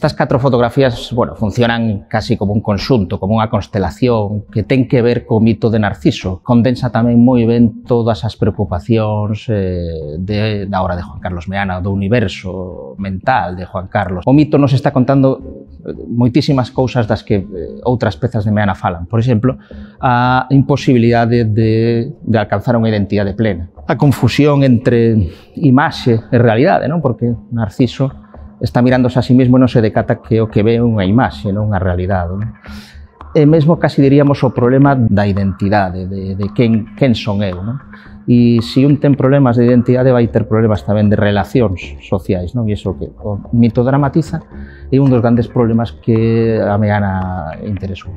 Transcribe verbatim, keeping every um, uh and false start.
Estas catro fotografías, bueno, funcionan casi como un conxunto, como unha constelación que ten que ver co mito de Narciso. Condensa tamén moi ben todas as preocupacións eh, de, da obra de Juan Carlos Meana, do universo mental de Juan Carlos. O mito nos está contando moitísimas cousas das que outras pezas de Meana falan. Por exemplo, a imposibilidade de, de alcanzar unha identidade plena. A confusión entre imaxe e realidade, non? Porque Narciso está mirándose a sí mesmo e non se decata que o que ve é unha imaxe, non unha realidade. Non? E mesmo casi diríamos o problema da identidade, de, de quen, quen son eu. Non? E se un ten problemas de identidade vai ter problemas tamén de relacións sociais, non? E iso que o mito dramatiza é un dos grandes problemas que a Meana interesou.